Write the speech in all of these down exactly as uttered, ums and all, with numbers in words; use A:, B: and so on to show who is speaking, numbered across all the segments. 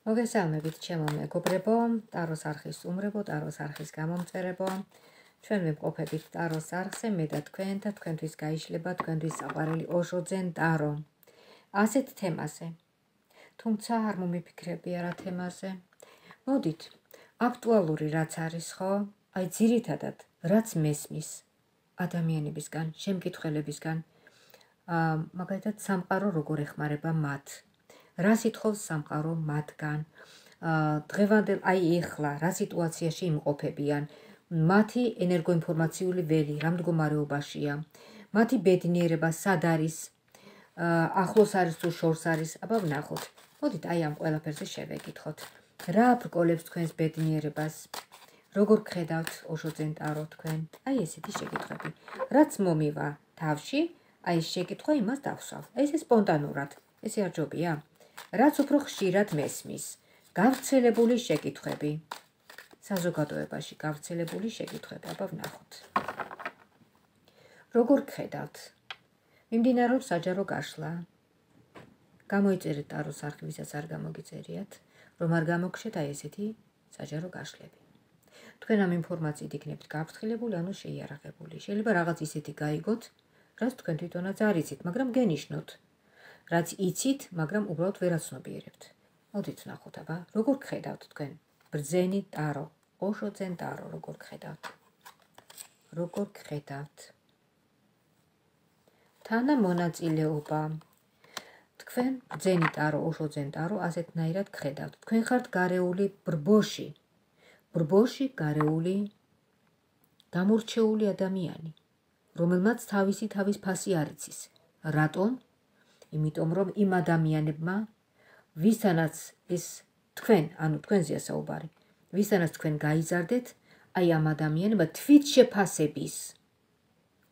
A: მოგესალმებით ჩემო მეგობრებო, ტაროს არხის უმრებო, ტაროს არხის გამომწერებო. ჩვენ ვიმყოფებით ტაროს არხზე, მე და თქვენ და თქვენთვის გაიშლება თქვენთვის საყვარელი ოშოძენ ტარო. ასეთ თემაზე. თუმცა არ მომიფიქრებია რა თემაზე. მოდით, აქტუალური რაც არის ხო? აი ძირითადად რაც მესმის ადამიანებისგან, შემკითხველებისგან, აა მაგალითად სამყარო როგორ ეხმარება მათ. რა სიტყავს სამყარო მათგან, დღევანდელ აი ეხლა რა სიტუაციაში იმყოფებიან, მათი ენერგოინფორმაციული ველი რა მდგომარეობაშია, მათი ბედნიერება სად არის, ახლოს არის თუ შორს არის, აბა ვნახოთ. მოდით აი ამ ყველაფერზე შევეკითხოთ. რა ბრკოლებს თქვენს ბედნიერებას, როგორ გხედავთ ოშოძენ ტარო თქვენ? აი ესეთი შეკითხვები. რაც მომივა თავში, აი ეს შეკითხვა იმას დავსვავ. ესე სპონტანურად, ესე არ ჯობია? რაც უფრო ხშირად მესმის, გავრცელებული შეკითხვები. საზოგადოებაში გავრცელებული შეკითხვები, აბა ვნახოთ. როგორ გხედავთ? მიმდინარეობს საჯარო გაშლა. გამოიწერეთ ტაროს არხი, ვისაც არ გამოგიწერიათ, რომ არ გამოგხშეთ აი ესეთი საჯარო გაშლები. თქვენ ამ ინფორმაციით იქნებით გაფრთხილებული, ანუ შეიარაღებული. შეიძლება რაღაც ისეთი გაიგოთ, რაც თქვენ თვითონაც არ იცით, მაგრამ გენიშნოთ. რაც იცით, მაგრამ უბრალოდ ვერ აცნობიერებთ. მოდით ვნახოთ, აბა, როგორ გხედავთ თქვენ? ბრძენი ტარო, ოშოძენ ტარო, როგორ გხედავთ? როგორ გხედავთ? თანამონაწილეობა. თქვენ ბრძენი ტარო, ოშოძენ ტარო, ასეთნაირად გხედავთ. თქვენ ხართ გარეული ბრბოში. ბრბოში გარეული გამორჩეული ადამიანი, რომელმაც თავისი თავის ფასი არ იცის. რატომ? იმიტომ რომ იმ ადამიანებმა, ვისთანაც ეს თქვენ, ანუ თქვენზეა საუბარი, ვისთანაც თქვენ გაიზარდეთ, აი ამ ადამიანებმა თვითშეფასების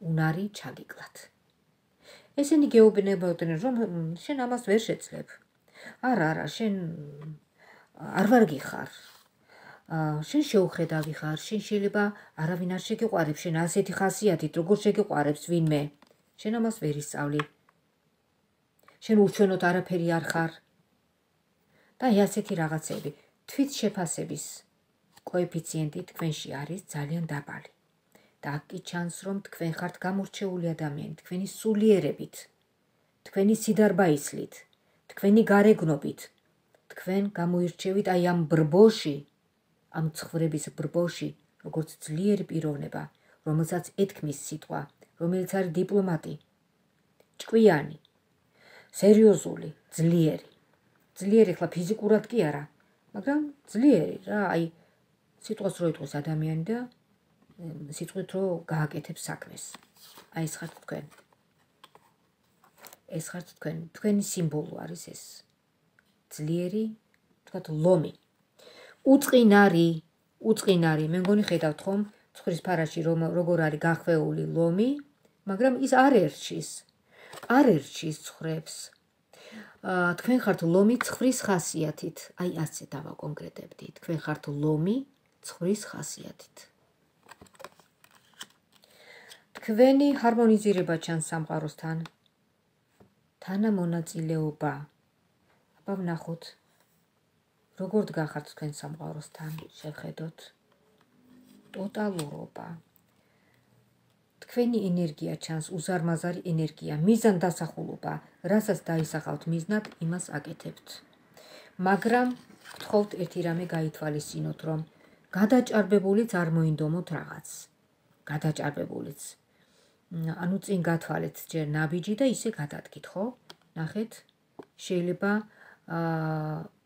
A: უნარი ჩაგიკლათ. ესენი გეუბნებოდნენ, რომ შენ ამას ვერ შეძლებ. არა, არა, შენ არ ვარგი ხარ. შენ შეუხედავი ხარ, შენ შეიძლება არავინ არ შეგიყვარებს, შენ ასეთი ხასიათით, როგორ შეგიყვარებს ვინმე. შენ ამას ვერ ისწავლი. შენ ურჩვენოდ არაფერი არ ხარ. და აი ასეთი რაღაცები. თვით შეფასების კოეფიციენტი თქვენში არის ძალიან დაბალი. და აქ კი ჩანს, რომ თქვენ ხართ გამორჩეული ადამიანი, თქვენი სულიერებით, თქვენი სიდარბაისლით, თქვენი გარეგნობით, თქვენ გამოირჩევით აი ამ ბრბოში, ამ ცხრების ბრბოში, როგორც ძლიერი პიროვნება, რომელსაც ეთქმის სიტყვა, რომელიც არის დიპლომატი, ჭკვიანი, სერიოზული, ძლიერი. ძლიერი ხლა ფიზიკურად კი არა, მაგრამ ძლიერი რა, აი სიტყვას რო იტყვის ადამიანი და სიტყვით რო გააკეთებს საქმეს. აი ეს ხართ თქვენ. ეს ხართ თქვენ, თქვენი სიმბოლო არის ეს. ძლიერი, თქვათ ლომი. უწყინარი, უწყინარი, მე მგონი ხედავთ ხომ, ცხვრის ფარაში რომ როგორ არის გახვეული ლომი, მაგრამ ის არ ერჩის. არ ერჩის ცხრებს. თქვენ ხართ ლომი ცხვრის ხასიათით. აი ასე დავაკონკრეტებდი. თქვენ ხართ ლომი ცხვრის ხასიათით. თქვენი ჰარმონიზირება ჩანს სამყაროსთან. თანამონაწილეობა. აბა ვნახოთ. როგორ დგახართ თქვენ სამყაროსთან, შევხედოთ. ტოტალურობა. თქვენი ენერგია ჩანს, უზარმაზარი ენერგია, მიზანდასახულობა, რასაც დაისახავთ მიზნად, იმას აკეთებთ. მაგრამ გთხოვთ ერთი რამე გაითვალისწინოთ, რომ გადაჭარბებულიც არ მოინდომოთ რაღაც. გადაჭარბებულიც. ანუ წინ გათვალეთ ჯერ ნაბიჯი და ისე გადადგით, ხო? ნახეთ, შეიძლება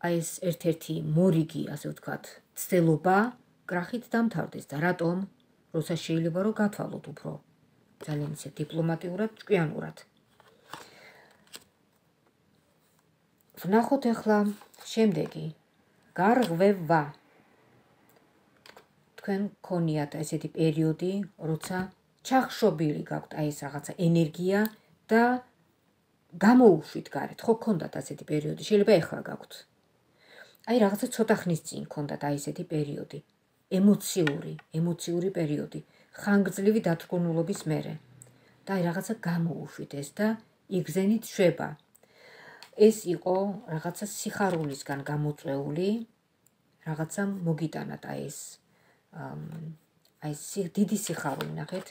A: აი ეს ერთ-ერთი მორიგი, ასე ვთქვათ, ცდელობა კრახით დამთავრდეს და რატომ? როცა შეიძლება რომ გათვალოთ უფრო ძალიან ისე დიპლომატიურად, ჭკვიანურად. ვნახოთ ახლა შემდეგი. გარღვევა. თქვენ გქონიათ ესეთი პერიოდი, როცა ჩახშობილი გაქვთ აი ეს რაღაცა ენერგია და გამოუშვით გარეთ. ხო გქონდათ ასეთი პერიოდი, შეიძლება ეხლა გაქვთ. აი რაღაცა ცოტა ხნის წინ გქონდათ აი ესეთი პერიოდი. ემოციური, ემოციური პერიოდი, ხანგრძლივი დათრგუნულობის მერე. და აი რაღაცა გამოუშვით ეს და იგზენით შვება. ეს იყო რაღაცა სიხარულისგან გამოწვეული, რაღაცა მოგიტანათ აი ეს აი ეს დიდი სიხარული, ნახეთ.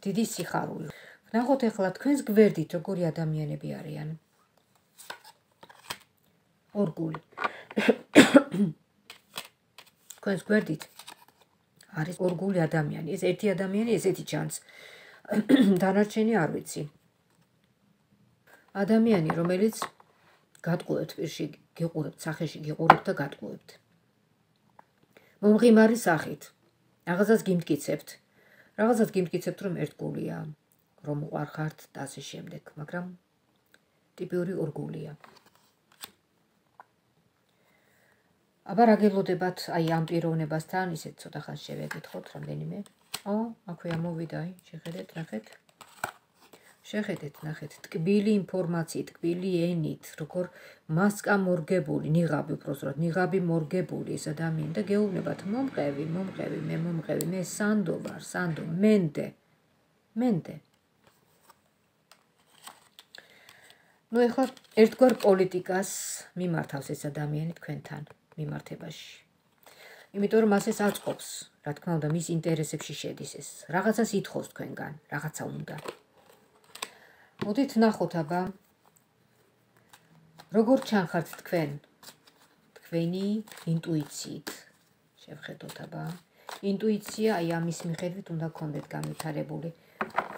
A: დიდი სიხარული. ნახოთ ახლა თქვენს გვერდით როგორი ადამიანები არიან. ორგული. თქვენს გვერდით არის ორგული ადამიანი. ეს ერთი ადამიანი ესეთი ჩანს. დანარჩენი არ ვიცი. ადამიანი, რომელიც გატყუებთ პირში, გიყურებთ სახეში, გიყურებთ და გატყუებთ. მომღიმარი სახით. რაღაცას გიმტკიცებთ. რაღაცას გიმტკიცებთ, რომ ერთგულია, რომ უყარხართ და ასე შემდეგ, მაგრამ ტიპიური ორგულია. აბა რა გელოდებათ აი ამ პიროვნებასთან, ისეთ ცოტა ხანს შევეკითხოთ რამდენიმე. ო, აქვე ამოვიდა, აი, შეხედეთ, ნახეთ. შეხედეთ, ნახეთ, ტკბილი ინფორმაციით, ტკბილი ენით, როგორ მასკა მორგებული, ნიღაბი უბრალოდ, ნიღაბი მორგებული ეს ადამიანი და გეუბნებათ, მომყევი, მომყევი, მე მომყევი, მე სანდო ვარ, სანდო, მენდე. მენდე. ნუ ეხლა ერთგვარ პოლიტიკას მიმართავს ეს ადამიანი თქვენთან მიმართებაში. იმიტომ რომ მას ეს აწყობს, რა თქმა უნდა, მის ინტერესებში შედის ეს. რაღაცას ითხოვს თქვენგან, რაღაცა უნდა. მოდით ნახოთ აბა როგორ ჩანხართ თქვენ თქვენი ინტუიციით. შევხედოთ აბა. ინტუიცია აი ამის მიხედვით უნდა გქონდეთ განვითარებული.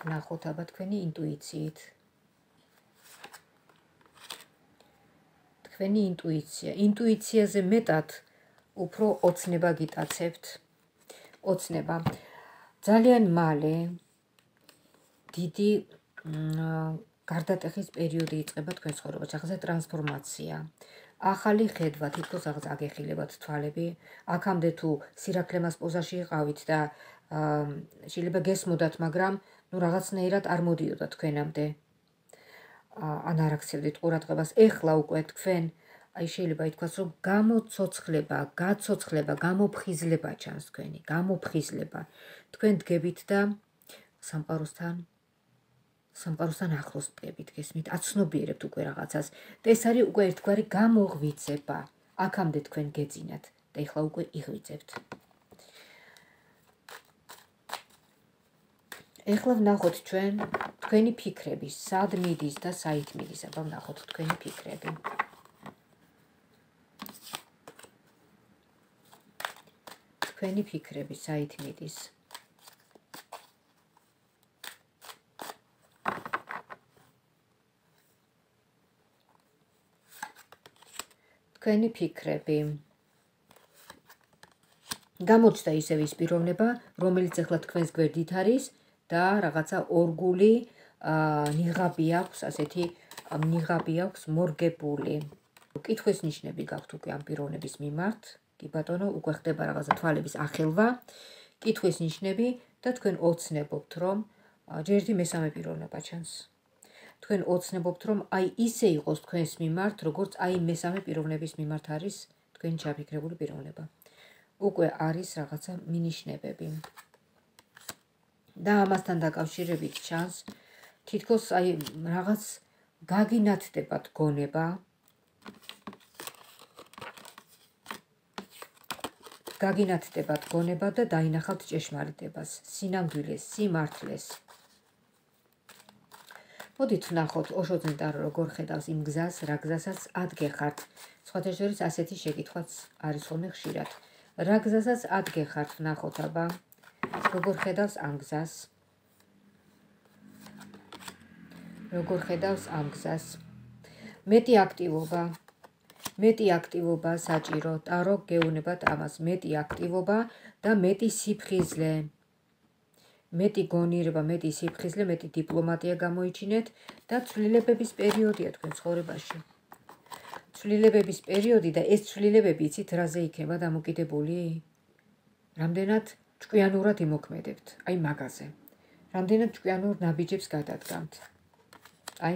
A: ნახოთ აბა თქვენი ინტუიციით. თქვენი ინტუიცია. ინტუიციაზე მეტად უფრო ოცნება გიტაცებთ. ოცნება. ძალიან მალე დიდი გარდატეხის პერიოდი იწყება თქვენ ცხოვრებაში, ახლა ტრანსფორმაცია. ახალი ხედვა, თითქოს რაღაც აგეხილებათ თვალები. აქამდე თუ სირაქლემას პოზაში იყავით და შეიძლება გესმოდათ, მაგრამ ნუ რაღაცნაირად არ მოდიოდა თქვენამდე. ან არ აქცევდით ყურადღებას. ეხლა უკვე თქვენ აი შეიძლება ითქვას, რომ გამოცოცხლება, გაცოცხლება, გამოფხიზლება ჩანს თქვენი, გამოფხიზლება. თქვენ დგებით და სამყაროსთან სამყაროსთან ახლოს დგებით, გესმით, აცნობიერებთ უკვე რაღაცას. და ეს არის უკვე ერთგვარი გამოღვიძება. აქამდე თქვენ გეძინათ და ეხლა უკვე იღვიძებთ. ეხლა ვნახოთ ჩვენ თქვენი ფიქრები, სად მიდის და საით მიდის, აბა ვნახოთ თქვენი ფიქრები. თქვენი ფიქრები საით მიდის. თქვენი ფიქრები. გამოჩნდა ისევ ის პიროვნება, რომელიც ახლა თქვენს გვერდით არის და რაღაცა ორგული ნიღაბი აქვს, ასეთი ნიღაბი აქვს მორგებული. კითხვის ნიშნები გაქვთ უკვე ამ პიროვნების მიმართ. კი ბატონო, უკვე ხდება რაღაცა თვალების ახელვა, კითხვის ნიშნები და თქვენ ოცნებობთ, რომ ჯერდი მესამე პიროვნება ჩანს. თქვენ ოცნებობთ, რომ აი ისე იყოს თქვენს მიმართ, როგორც აი მესამე პიროვნების მიმართ არის თქვენი ჩაფიქრებული პიროვნება. უკვე არის რაღაცა მინიშნებები. და ამასთან დაკავშირებით ჩანს, თითქოს აი რაღაც გაგინათდებათ გონება. გაგინათდებათ გონება და დაინახავთ ჭეშმარიტებას, სინამდვილეს, სიმართლეს. მოდით ვნახოთ ოშოძენტარო როგორ ხედავს იმ გზას, რა გზასაც ადგეხართ. სხვათა შორის ასეთი შეკითხვაც არის ხოლმე ხშირად. რა გზასაც ადგეხართ, ვნახოთ აბა, როგორ ხედავს ამ გზას. როგორ ხედავს ამ გზას. მეტი აქტივობა. მეტი აქტივობა საჭირო, ტარო გეუნებათ ამას, მეტი აქტივობა და მეტი სიფხიზლე. მეტი გონიერება, მეტი სიფხიზლე, მეტი დიპლომატია გამოიჩინეთ და ცვლილებების პერიოდია თქვენ ცხოვრებაში. ცვლილებების პერიოდი და ეს ცვლილებები იცით რაზე იქნება დამოკიდებული? რამდენად ჭკვიანურად იმოქმედებთ, აი მაგაზე. რამდენად ჭკვიანურ ნაბიჯებს გადადგამთ. აი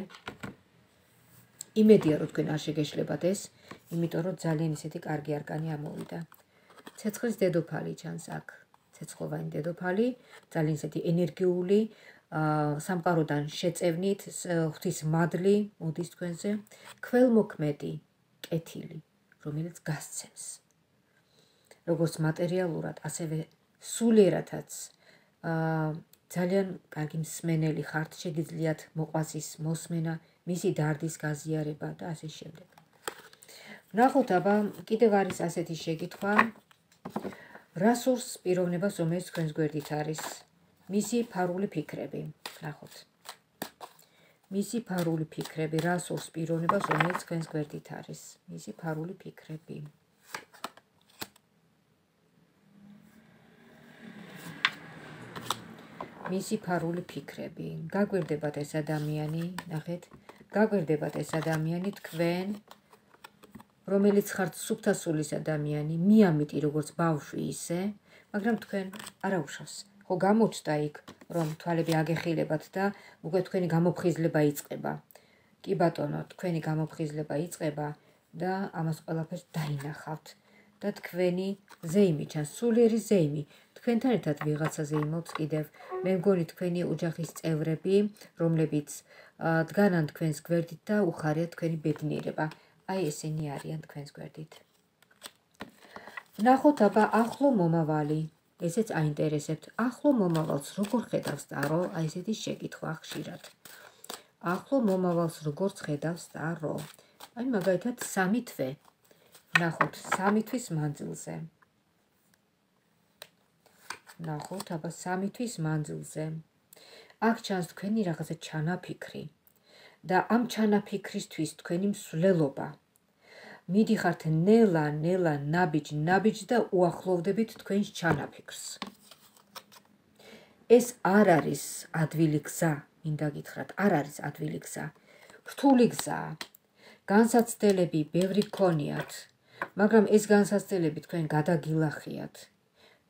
A: იმედია რომ თქვენ არ შეგეშლებათ ეს, იმიტომ რომ ძალიან ისეთი კარგი არკანი ამოვიდა. ცეცხლის დედოფალი ჩანს აქ. ცეცხლოვანი დედოფალი, ძალიან ისეთი ენერგიული, სამყაროდან შეწევნით ღვთის მადლი მოდის თქვენზე, ქველმოქმედი კეთილი, რომელიც გასცემს როგორც მატერიალურად, ასევე სულიერადაც ძალიან კარგი მსმენელი ხართ, შეგიძლიათ მოყვასის მოსმენა, მისი დარდის გაზიარება და ასე შემდეგ. ვნახოთ აბა კიდევ არის ასეთი შეკითხვა, რა სურს პიროვნებას, რომელიც თქვენს გვერდით არის, მისი ფარული ფიქრები. ვნახოთ. მისი ფარული ფიქრები, რა სურს პიროვნებას, რომელიც თქვენს გვერდით არის, მისი ფარული ფიქრები. მისი ფარული ფიქრები. გაგვირდებათ ეს ადამიანი, ნახეთ, გაგვირდებათ ეს ადამიანი თქვენ, რომელიც ხართ სუფთასულის ადამიანი, მიამიტი როგორც ბავშვი ისე, მაგრამ თქვენ არაუშავს. ხო გამოჩნდა იქ, რომ თვალები აგეხილებათ და უკვე თქვენი გამოფხიზლება იწყება. კი ბატონო, თქვენი გამოფხიზლება იწყება და ამას ყველაფერს დაინახავთ. და თქვენი ზეიმი ჩანს, სულიერი ზეიმი. თქვენთან ერთად ვიღაცა ზეიმობს კიდევ. მე მგონი თქვენი ოჯახის წევრები, რომლებიც დგანან თქვენს გვერდით და უხარიათ თქვენი ბედნიერება. აი ესენი არიან თქვენს გვერდით. ვნახოთ აბა ახლო მომავალი. ესეც აინტერესებთ. ახლო მომავალს როგორ ხედავს ტარო? აი ესეთი შეკითხვა ხშირად. ახლო მომავალს როგორ ხედავს ტარო? აი მაგალითად სამი თვე. ვნახოთ სამი თვის მანძილზე. ვნახოთ აბა სამი თვის მანძილზე. აქ ჩანს თქვენი რაღაცა ჩანაფიქრი და ამ ჩანაფიქრისთვის თქვენი მსვლელობა. მიდიხართ ნელა, ნელა, ნაბიჯ, ნაბიჯ და უახლოვდებით თქვენს ჩანაფიქრს. ეს არ არის ადვილი გზა, მინდა გითხრათ, არ არის ადვილი გზა. რთული გზაა. განსაცდელები ბევრი გქონიათ, მაგრამ ეს განსაცდელები თქვენ გადაგილახიათ.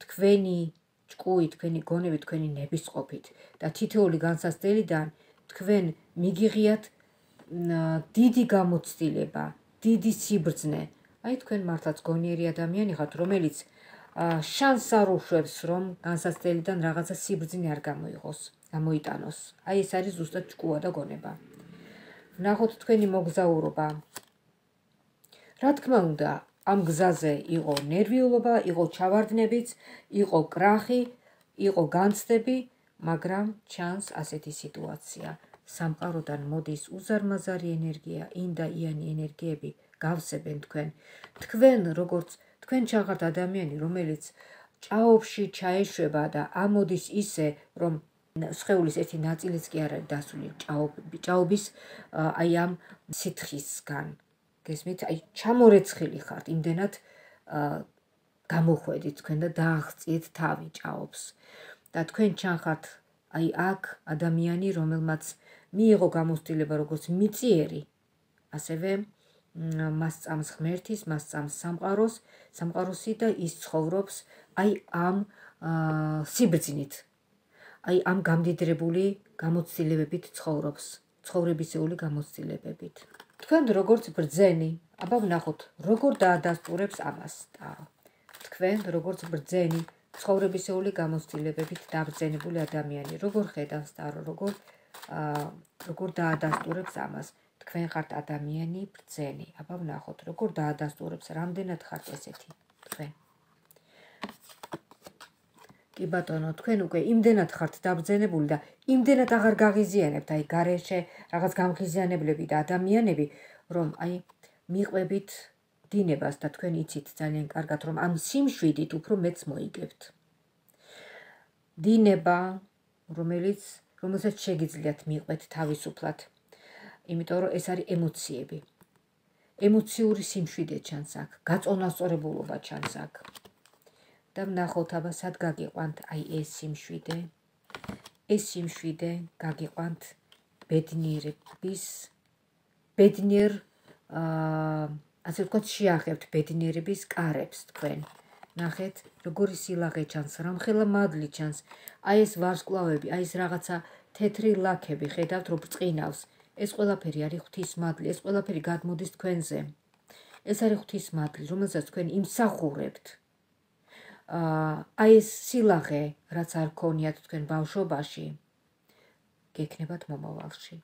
A: თქვენი ჭკუი, თქვენი გონები, თქვენი ნებისყოფით და თითოეული განსაცდელიდან თქვენ მიგიღიათ დიდი გამოცდილება, დიდი სიბრძნე. აი თქვენ მართლაც გონიერი ადამიანი ხართ, რომელიც შანსს არ უშვებს, რომ განსაცდელიდან რაღაცა სიბრძნე არ გამოიღოს, გამოიტანოს. აი ეს არის ზუსტად ჭკუა და გონება. ვნახოთ თქვენი მოგზაურობა. რა თქმა უნდა, ამ გზაზე იყო ნერვიულობა, იყო ჩავარდნებიც, იყო კრახი, იყო განცდები, მაგრამ ჩანს ასეთი სიტუაცია. სამყაროდან მოდის უზარმაზარი ენერგია, ინდაიანი ენერგიები გავსებენ თქვენ. თქვენ როგორც თქვენ ჩახართ ადამიანი, რომელიც ჭაობში ჩაეშვება და ამოდის ისე, რომ სხეულის ერთი ნაწილიც კი არ არის დასული ჭაობის აი ამ სითხისგან. გესმით, აი ჩამორეცხილი ხართ, იმდენად გამოხვედით თქვენ და დააღწიეთ თავი ჭაობს. და თქვენ ჩახართ აი აქ ადამიანი, რომელმაც მიიღო გამოცდილება როგორც მიწიერი, ასევე მას წამს ღმერთის, მას წამს სამყაროს, სამყაროსი და ის ცხოვრობს აი ამ სიბრძნით. აი ამ გამდიდრებული გამოცდილებებით ცხოვრობს, ცხოვრებისეული გამოცდილებებით. თქვენ როგორც ბრძენი, აბა ვნახოთ, როგორ დაადასტურებს ამას ტარო. თქვენ როგორც ბრძენი, ცხოვრებისეული გამოცდილებებით დაბრძენებული ადამიანი, როგორ ხედავს ტარო, როგორ როგორ დაადასტურებს ამას. თქვენ ხართ ადამიანი ბრძენი. აბა ვნახოთ, როგორ დაადასტურებს, რამდენად ხართ ესეთი თქვენ. კი ბატონო, თქვენ უკვე იმდენად ხართ დაბრძენებული და იმდენად აღარ გაღიზიანებთ, აი გარეშე რაღაც გამღიზიანებლები და ადამიანები, რომ აი მიყვებით დინებას და თქვენ იცით ძალიან კარგად, რომ ამ სიმშვიდით უფრო მეც მოიგებთ. დინება, რომელიც რომელსაც შეგიძლიათ მიყვეთ თავისუფლად. იმიტომ რომ ეს არის ემოციები. ემოციური სიმშვიდე ჩანს აქ, გაწონასწორებულობა ჩანს აქ. და ვნახოთ აბა სად გაგიყვანთ აი ეს სიმშვიდე. ეს სიმშვიდე გაგიყვანთ ბედნიერების, ბედნიერ, ასე ვთქვათ, შეახებთ ბედნიერების კარებს თქვენ. ნახეთ, როგორი სილაღე ჩანს, რამხელა მადლი ჩანს. აი ეს ვარსკვლავები, აი ეს რაღაცა თეთრი ლაქები ხედავთ, რომ ბრწყინავს. ეს ყველაფერი არის ღვთის მადლი, ეს ყველაფერი გადმოდის თქვენზე. ეს არის ღვთის მადლი, რომელსაც თქვენ იმსახურებთ. აი ეს სილაღე, რაც არ ქონიათ თქვენ ბავშვობაში, გექნებათ მომავალში.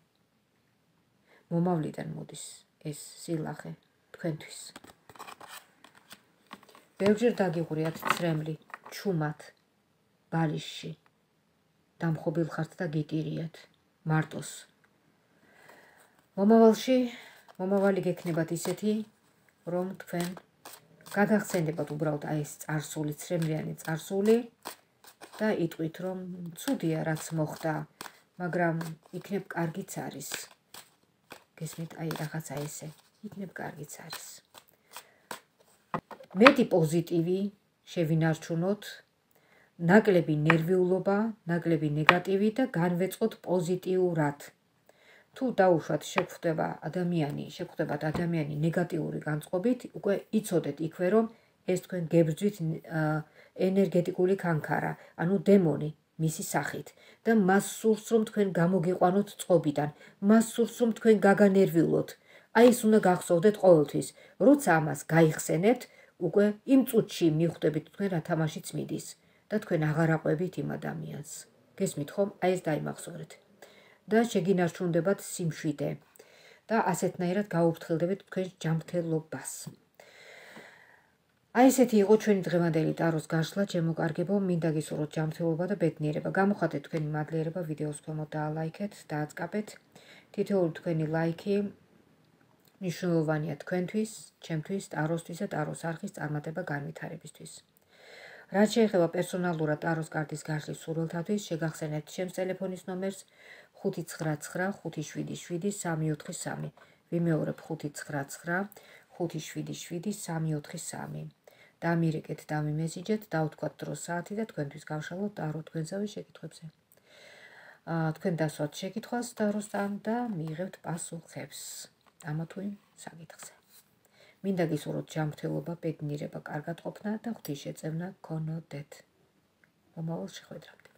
A: მომავლიდან მოდის ეს სილახე თქვენთვის. ბევრჯერ დაგიღურიათ ცრემლი, ჩუმად, ბალიშში. დამხობილ ხართ და გიტირიათ, მარტოს. მომავალში, მომავალი გექნებათ ისეთი, რომ თქვენ გადახსენდებათ უბრალოდ აი ეს წარსული, ცრემლიანი წარსული და იტყვით, რომ ცუდია რაც მოხდა, მაგრამ იქნებ კარგიც არის. გესმით, აი რაღაცა ესე, იქნებ კარგიც არის. მეტი პოზიტივი შევინარჩუნოთ, ნაკლები ნერვიულობა, ნაკლები ნეგატივი და განვეწყოთ პოზიტიურად. თუ დაუშვათ შეგხვდება ადამიანი, შეგხვდებათ ადამიანი ნეგატიური განწყობით, უკვე იცოდეთ იქვე, რომ ეს თქვენ გებრძვით ენერგეტიკული კანქარა, ანუ დემონი მისი სახით და მას სურს რომ თქვენ გამოგიყვანოთ წყობიდან, მას სურს რომ თქვენ გაგანერვიულოთ. აი ეს უნდა გახსოვდეთ ყოველთვის, როცა ამას გაიხსენებთ, უკვე იმ წუთში მიხვდებით თქვენ რა თამაშიც მიდის და თქვენ აღარ აყვებით იმ ადამიანს. გესმით ხომ? აი ეს დაიმახსოვრეთ. და შეგინარჩუნდებათ სიმშვიდე და ასეთნაირად გაუფრთხილდებით თქვენს ჯანმრთელობას. აი ესეთი იყო ჩვენი დღევანდელი ტაროს გაშლა, ჩემო-კარგებო, მინდა გისურვოთ ჯანმრთელობა და ბედნიერება. გამოხატეთ თქვენი მადლიერება ვიდეოს ქვემოთ და ლაიქეთ, დააწყაბეთ. თითოეული თქვენი ლაიქი მნიშვნელოვანია თქვენთვის, ჩემთვის, ტაროსთვის და ტაროს არხის წარმატება განვითარებისთვის. რაც შეეხება პერსონალურად ტაროს კარტის გაშლის სურვილთათვის, შეგახსენებთ ჩემს ტელეფონის ნომერს ხუთი ცხრა ცხრა ხუთი შვიდი შვიდი სამი ოთხი სამი. ვიმეორებ ხუთი ცხრა ცხრა ხუთი შვიდი შვიდი სამი ოთხი სამი. დამირეკეთ, დამიმესიჯეთ, დავთქვათ დრო საათი და თქვენთვის გავშალოთ ტარო თქვენსავე შეკითხვებზე. თქვენ დასვათ შეკითხვას ტაროსთან და მიიღებთ პასუხებს ამა თუ იმ საკითხზე. მინდა გისურვოთ ჯანმრთელობა, ბედნიერება, კარგად ყოფნა და ღვთის შეწევნა გქონოდეთ. მომავალ შეხვედრამდე.